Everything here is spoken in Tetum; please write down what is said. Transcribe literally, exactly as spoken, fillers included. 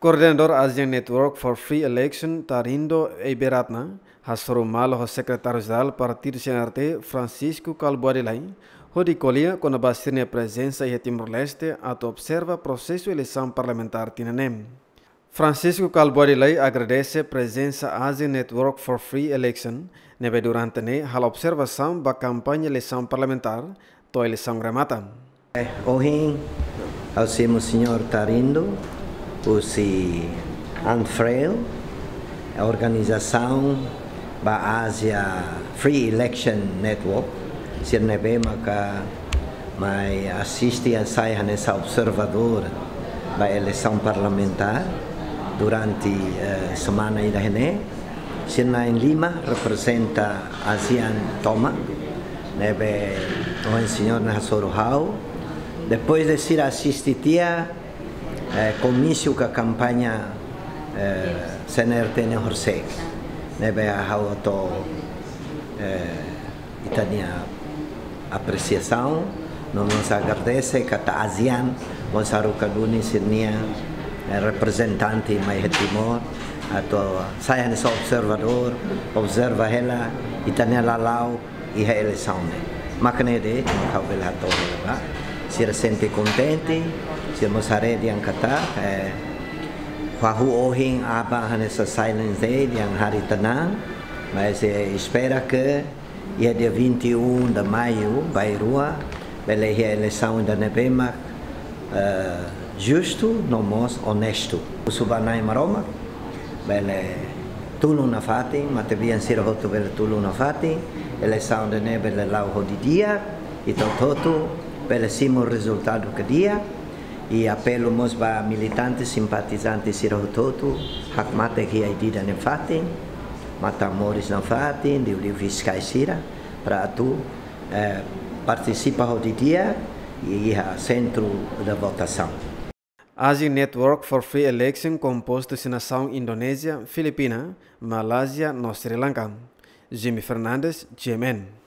Koordenadór ASEAN Network for Free Election, Tarindo Eiberatna, hasoru malu ho Sekretáriu Jerál Partidu C N R T, Francisco Kalbuadi Lay, hodi ko'alia kona-ba sira-nia prezensa iha Timor-Leste atu observa prosesu eleisaun parlamentár tinan ne'e. Francisco Kalbuadi Lay agradese prezensa ASEAN Network for Free Election, ne'ebé durante ne'e halo observasaun ba kampaña eleisaun parlamentár to'o eleisaun remata. Eh, ohin, ha'u simu señór Tarindo, husi ANFREL, organizasaun ba ASEAN Free Election Network, sira ne'ebé maka mai asiste, sai hanesan observadór ba eleisaun parlamentár durante, eh, semana ida-ne'e. Sira na'in lima reprezenta ASEAN tomak, ne'ebé ohin señór ne'e hasoru ha'u. Depois de sira asiste tiha, eh, komísiu ka kampaña, eh, C N R T ne'e horisehik, ne'ebé ha'u hato'o, eh, ita-nia apresiasaun, no mós agradese katak ASEAN mós haruka duni sira-nia, eh, reprezentante mai iha Timor, atu sai hanesan observadór, observa hela ita-nia lala'ok iha eleisaun ne'e. Mak ne'e de'it mak ha'u bele hato'o hela ba. Sira sente kontente, sira mós haree dehan katak, eh, fahu ohin aban hanesan Silent Day, dehan hari tenang, mas, eh, espera ke iha dia vinte e um de maio, bainrua, bele iha eleisaun ida ne'ebé mak, eh, justu, no mós onestu. Husu ba Na'i Maromak, bele tulun nafatin, matebian sira hotu bele tulun nafatin, eleisaun ida-ne'e bele la'o ho di'ak, ita hotu-hotu bele simu rezultadu ke di'ak, i apelu mós ba militante, simpatizante sira hotu-hotu, hakmatek iha ida-ne'e nafatin, matan-moris nafatin, liuliu fiskais sira, para atu, eh, partisipa ho di'ak iha sentru de votasaun. ASEAN Network for Free Election kompostu husi nasaun Indonézia, Filipina, Malázia no Sri Lanka. Jimmy Fernandes, G M N.